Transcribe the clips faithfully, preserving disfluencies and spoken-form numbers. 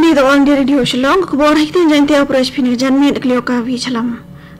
Ïa ka All India Radio Shillong, ka khubor ha ktien Jaiñtia, u pyrshah phi na ka janmiet, ka Lioka Vichalam.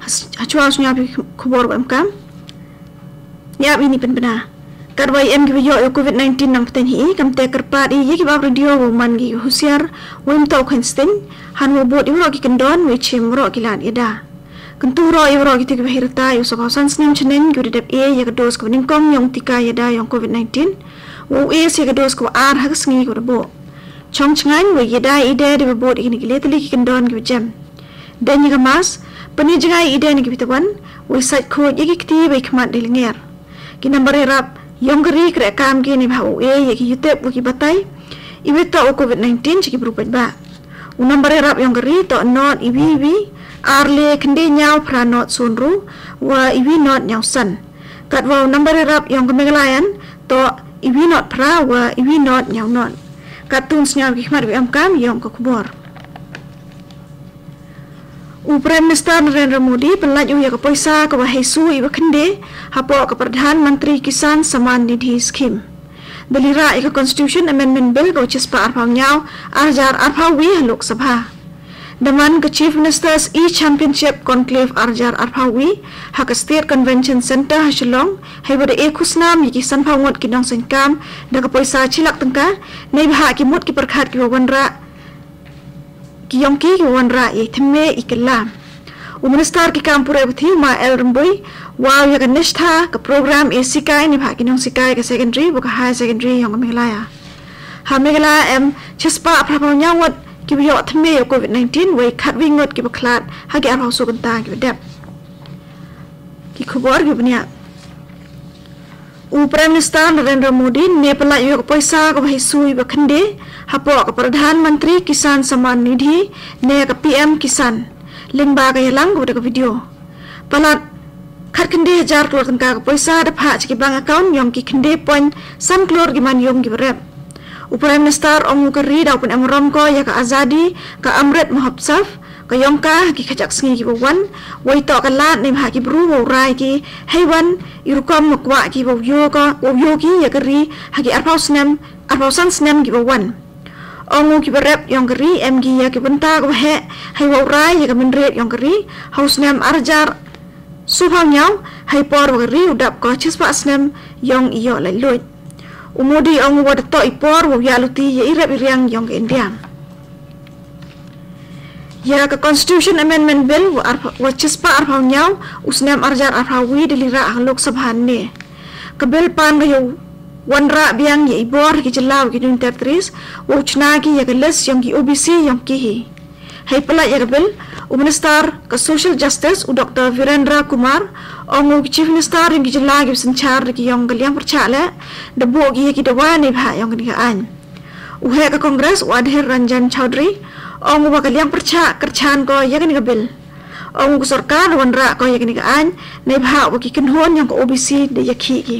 Hashwa sngap ïa ki khubor ba em kam. Ïa bini pynbna. Katba em kiba ïoh ïa u COVID nineteen nang pynthei hi, kam te kyrpad ïa kiba ap radio ba man ki husiar, wym toh kheiñ sting, hanwa bud ïa baroh ki kyndon, wei shim baroh ki lad ïada. Kyntu ruh ïa baroh kito kiba heh rta ïa u saphew san snem shaneng kiba da dep ïa ka dos kaba nyngkong ïa u tika ïada ïa u COVID nineteen, wa u ïa ka dos kaba ar ha ka sngi kaba da buh. Chong chngaiñ, wa ïada ïa i de da ba bud ïa kine ki le tylli ki kyndon kiba jem. Dei ïa ka mask, pyni jngai ïa i de na ki bitawan, wa i sait khuid ïa ki kti bad i khmat da i lyngngoh. Ki nambar ïarap ïong ka ri kreh kam ki ne ba u ïa ki yutep wa ki batai iwei toh u COVID nineteen sha ki bru paidbah. U nambar ïarap ïong ka ri toh not iwei iwei ar le khyndai ïaw phra not sundru wa iwei not ïaw san. Katwa u nambar ïarap ïong ka Meghalaya toh iwei not phra wa iwei not ïaw not. Katto sngap ki khmat wa em kam ïong ka khubor. U Prime Minister Narendra Modi pynlait u ïa ka poisa kaba hei su iba khyndai hapoh ka Pradhan Mantri Kisan Samman Nidhi Scheme. Da lyrah ïa ka Constitution Amendment Bill kaba shispah arphew ïaw arhajar arphew wi ha Lok Sabha. Da man ka Chief Minister's E-Championship Conclave arhajar arphew wi ha ka State Convention Centre ha Shillong, hei ba da e khusnam ïa ki sanphew ngut ki nongseng kam da ka poisa shi lak tyngka, neibhah ki mut ki pyrkhat kiba wanrah ki ïong ki, ki wanrah ïa i thymme i kylla. U Minister ki kam puræ puthi u Ma L Rymbui, wa u ïa ka Nishtha, ka program e sikai neibhah ki nongsikai ka secondary wa ka higher secondary ïong ka Meghalaya. Ha Meghalaya em shispah phra phew ïaw ngut kiba ïoh thymme ïa u COVID nineteen, wei khatwi ngut kiba khlad ha ki arphew saw kynta kiba dep. Ki khubor kiba bniah. U Prime Minister Narendra Modi ne pynlait u ïa ka poisa kaba hei su iba khyndai hapoh ka Pradhan Mantri Kisan Samman Nidhi ne ka P M Kisan lyngba ka ïalang kaba da ka video. Palat khatkhyndai hajar klur tyngka ka poisa da phah sha ki bank account ïong ki khyndai point san klur ki manyung kiba rep. U Prime Minister ong u ka ri da u pynemrom ko ïa ka Azadi ka Amrit Mahotsav ka ïong ka ha ki khajiak sngi kiba wan, wei toh ka lad neibhah ki bru wa u rai ki hei wan i rukom wa kwah ki wa u ïoh ka, wa u ïoh ki ïa ka ri ha ki arphew snem, arphew san snem kiba wan. Ong u kiba rep ïong ka ri em ki ïa ki bynta kaba heh hei wa u rai ïa ka mynried ïong ka ri ha u snem arhajar sawphew ïaw, hei por wa ka ri u dap ko shispah snem ïong i ïoh laitluid. U Modi ong u wa da toh i por wa u ïaid luti ïa i rep i riang ïong ka India. Ïa ka Constitution Amendment Bill wa arphew, wa shispah arphew ïaw u snem arhajar arphew wi da lyrah ha Lok Sabha ne. Ka bill pan ka ïa u wanrah biang ïa i bor ki jylla wa ki Union Territories wa u chna ki ïa ka list ïong ki O B C ïong ki hi. Hei pynlait ïa ka bill, u Minister ka Social Justice u Doctor Virendra Kumar ong u ki Chief Minister ïong ki jylla kiba synshar da ki ïong ka liang pyrshah leh da buh ki ïa ki dawa neibhah ïong kane ka aiñ. U heh ka Congress u Adhir Ranjan Chaudhary ong u wa ka liang pyrshah kyrchan ko ïa kane ka bill. Ong u ka sorkar wanrah ko ïa kane ka aiñ neibhah wa ki kynhun ïong ka O B C da ïakhih ki.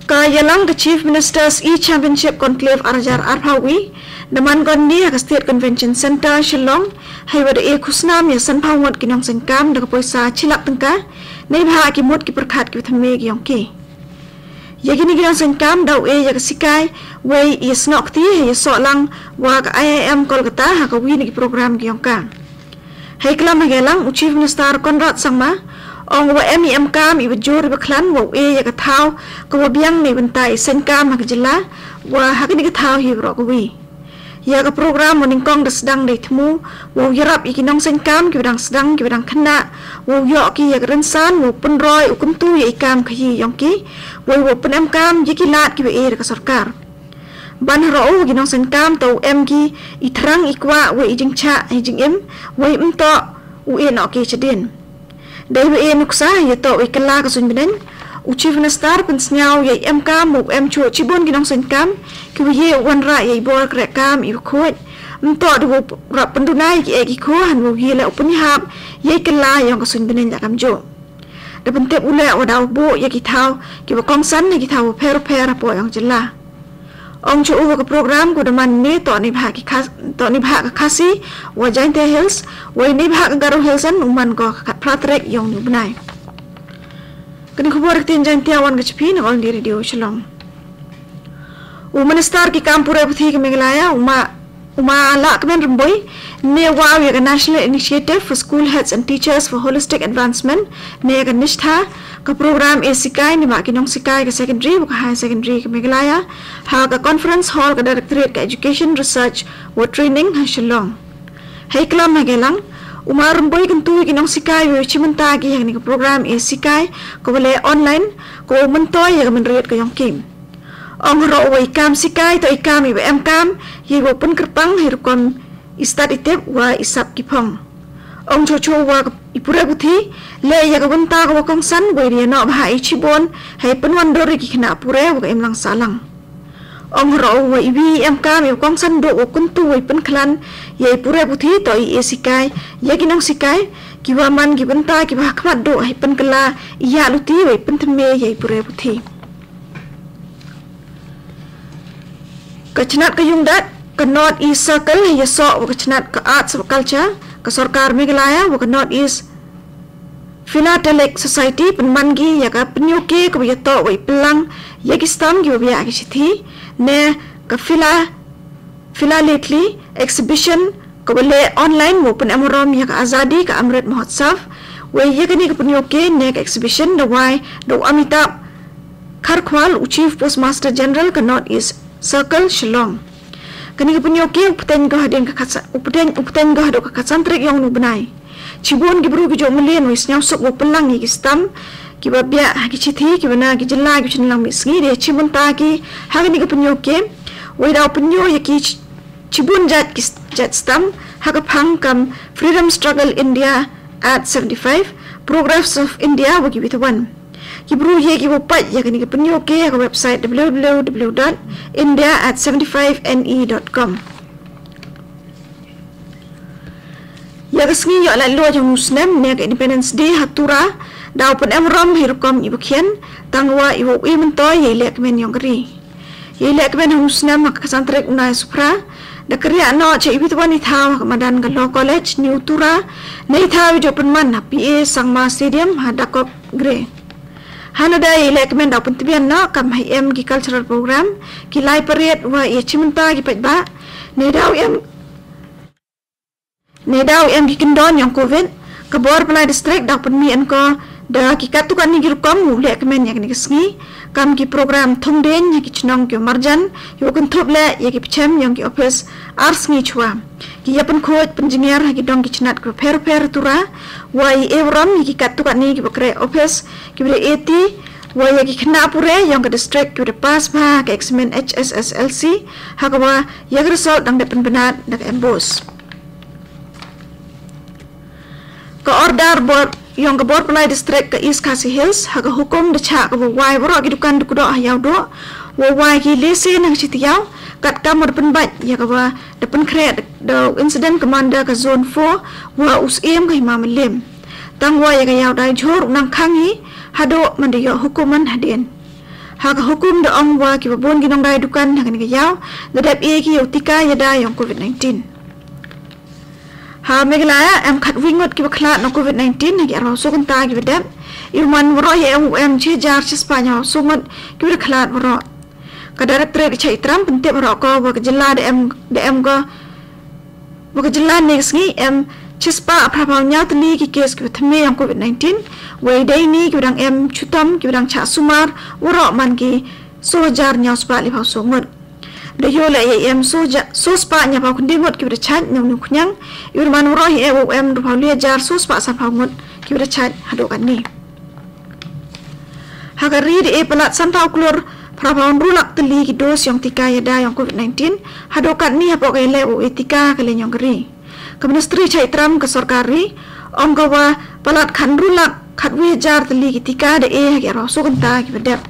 Ka ïalang ka Chief Minister's E-Championship Conclave arhajar arphew wi da man ko ne ha ka State Convention Centre Shillong, hei wa da e khusnam ïa sanphew ngut ki nongseng kam da ka poisa shi lak tyngka neibhah ki mut ki pyrkhat kiba thymme ki ïong ki. Ïa kine ki nongseng kam da u e ïa ka sikai, wei ïa snoh kti, ïa sohlang wa ka I I M Kolkata ha ka wi na ki program ki ïong ka. Hei klam ha ka ïalang u Chief Minister Conrad Sangma ong u wa em i em kam iba jur iba khlaiñ wa u e ïa ka thaw kaba biang na bynta i seng kam ha ka jylla wa ha kane ka thaw hi baroh kawi. Ïa ka program wa nyngkong da sdang da i thmu wa u ïarap ïa ki nongseng kam kiba dang sdang kiba dang khynnah wa u ïoh ki ïa ka rynsan wa u pynroi u kyntu ïa i kam khaïi ïong ki wei wa u pynem kam ïa ki lad kiba e da ka sorkar. Ban haroh u ki nongseng kam toh u em ki i thrang i kwah wei i jingshah i jingim wei ym toh u e noh ki shadien. Dei ba e nuksa ïa toh wei kylla ka suiñ bneng, u Chief Minister pynsngew ïa i em kam u em shuh shibun ki nongseng kam kiwa ïa u wanrah ïa i bor kreh kam iwa khuid. Ym toh da u rap pynduna ïa ki eh ki khun hanwa u ïa leh u pynïahap ïa i kylla ïong ka suiñ bneng la kam juh. Da pyntip u leh wa da u buh ïa ki thaw kiwa kongsan ïa ki thaw wa pher wa pher hapoh ïong jylla. Ong shuh u wa ka program ka da man ne toh neibhah ki Khas-, toh neibhah ka Khasi wa Jaintia Hills, wei neibhah ka Garo Hills, u man ko ka khatphra tarik ïong u bnai. Kane ka khubor ktien Jaintia wan ka cha phi na All India Radio Shillong. U Minister ki kam pure puthi ka Meghalaya, u Ma, u Ma Lahkmen Rymbui, ne wa ïa ka National Initiative for School Heads and Teachers for Holistic Advancement, ne ka NISHTHA, ka program e sikai ne ma ki nongsikai ka secondary wa ka higher secondary ka Meghalaya, ha ka conference hall ka Directorate ka Education Research wa Training ha Shillong. Hei klam ha Gelang, u Ma Rymbui kyntu ïa ki nongsikai wa u chimanta ki ha kane ka program e sikai, ka wa leh online, ka wa myntoi ïa ka mynried ka yong ki. Ong haroh wa i kam sikai to i kam i wa em kam, ïa i wa pynkyrpang, hei rukom i stad i tip wa i sap ki phong. Ong chocho wa i pure puthi, leh ïa ka bynta ka wa kongsan, wa i ïa noh bha i chibun, hei pynwandur ïa ki khynnah pure wa ka imlang sahlang. Ong haroh wa i wi i em kam i wa kongsan duh wa kyntu wa i pynkhlan, ïa i pure puthi to i e sikai, ïa ki nongsikai, ki wa man ki bynta ki wa ha khmat duh hei pynkylla, ïa luti wa i pynthymme ïa i pure puthi. Ka chnat ka Yungdat, ka North East Circle, ïa soh wa ka chnat ka Arts wa Culture, ka sorkar Meghalaya, wa ka North East Philatelic Society, pynman ki ïa ka pynïoh ke ka wa ïa toh wa i pynlang, ïa ki stam ki wa biah ki shithi, ne ka Phila, Philately Exhibition, ka wa leh online wa pynemrom ïa ka Azadi ka Amrit Mahotsav, wa ïa kane ka pynïoh ke ne ka exhibition da wai, da u Amitabh Kharkhwal, u Chief Postmaster General ka North East Circle Shillong. Kane ka pynïoh ke u pteng ka hadien ka khatsa-, u pteng, u pteng ka haduh ka khatsan tarik yong u bnai. Chibun ki bru ki jong mlien wa i sñiawsuk wa pynlang ïa ki stam, ki wa biah ha ki shithi, ki wa na ki jylla ki wa chynlang mih sngi, da chimanta ki, ha kane ka pynïoh ke, wa i daw pynïoh ïa ki ch-, chibun jait ki s-, jait stam, ha ka phang kam Freedom Struggle India at seventy-five, Progress of India wa ki wa i twan. Ki bru ïa ki wa pait ïa kane ka pynïoh ke ha ka website w w w dot india at seventy-five n e dot com. Ïa ka sngi ïoh laitluid jong u snem ne ka Independence Day ha Tura, daw pynemrom hi rukom i wa khian, tang wa i wa u i myntoi ïa i lehkmen yong ka ri. Ïa i lehkmen ha u snem ha ka khatsan tarik u bnai Suphra, da kyrïah noh cha i wa i twan i thaw ha ka madan ka Law College, New Tura, ne i thaw i jooh pynman ha P A Sangma Stadium, ha Dakop Gre. Hana da ïa i lehkmen daw pyntbian noh, kam hei em ki cultural program, ki lai parade wa ïa chimanta ki paidbah, ne daw em, ne daw em ki kyndon yong Covid, ka bor Pynlai District daw pynmih en ko, da ki katto katne ki rukom u lehkmen ïa kane ka sngi, kam ki program thung dieñ, ïa ki chnong ki marjan, ïa wa kynthup leh, ïa ki pchem yong ki office, ar sngi chwa. Ki ïa pynkhuid, pynjngiar, ha ki dong ki chnat ki wa pher pher Tura, wa i e burom, ïa ki katto katne ki wa kre office, ki wa da e ti, wa ïa ki khynnah pure, yong ka district ki wa da pass bha, ka eksamin H S S L C, ha ka wa ïa ka result dang da pynbna, da ka MBOSE. Ka order bor, yong ka bor Pynlai District ka East Khasi Hills, ha ka hukum da chah ka wa wai waroh ki dukan dukdoh ha Ïawdoh, wa wai ki lehse na ka shi taïew, katkam wa da pynbeit, ïa ka wa da pynkhreh, da, da incident commander ka zone four, wa u Syiem ka Hima Mylliem. Tang wa ïa ka Ïawdai Jhur u nang khang hi, haduh man da ïoh hukum man hadien. Ha ka hukum da ong wa ki wa bun ki nongdai dukan ha kane ka ïew, da dep e ki ïa u tika ïada yong Covid nineteen. Ha Meghalaya, em khatwi ngut ki wa khlad na Covid nineteen, ha ki arphaw soo kynta ki wa dep. I wa man waroh hi em, em shi hajar shispah hynñiewphaw soo ngut ki wa da khlad waroh. Ka Directorate ka Chaitram pyntip waroh ko wa ka jylla da em, da em ko, wa ka jylla ne ka sngi em shispah phra phaw hynñiew tylli ki case ki wa thymme yong Covid nineteen, wei dei ni ki wa dang em chitom ki wa dang chah sumar, waroh man ki soo hajar hynñiewspah liphaw soo ngut. Da ïoh leh ïa em soo ja-, soo spah hynñiewphaw khyndai ngut ki wa da chait na une u khñiang, i wa man waroh hi e wa em arphaw lai hajar soo spah sanphaw ngut ki wa da chait haduh katne. Ha ka ri da e palat sanphaw klur phra phaw hynriew lak tylli ki dose yong tika ïada yong Covid nineteen, haduh katne hapoh ka ïaleh wa e tika ha ka liang yong ka ri. Ka Ministry Chaitram ka sorkar ri, ong ka wa palat khathynriew lak khatwi hajar tylli ki tika da e ha ki arphaw soo kynta ki wa dep.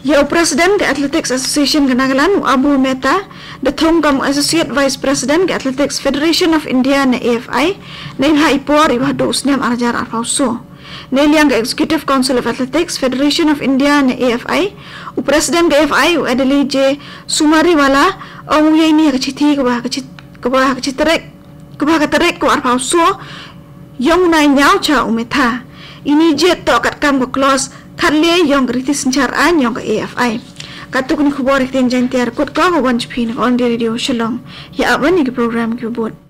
Ïa u President ka Athletics Association ka Nagaland, u Abu Mehta, da thung kam u Associate Vice President ka Athletics Federation of India ne A F I, neibhah i por i wa haduh u snem ar hajar arphaw soo. Neiliang ka Executive Council of Athletics Federation of India ne A F I, u President ka A F I, u Adeli J Sumariwala, ong u ïa ini ha ka chithi ka wa ha ka chit-, ka wa ha ka chit tarik, ka wa ha ka tarik ka wa arphaw soo, yong u nai ñiaw cha u Mehta. Ini jied toh katkam ka clause khatlai yong ka riti synshar aiñ yong ka A F I. Katto katne khubor ha ktien Jaiñtia kut ka wan sha phi na ka All India Radio Shillong. Ïa ap ban ïa ki program kiba bud.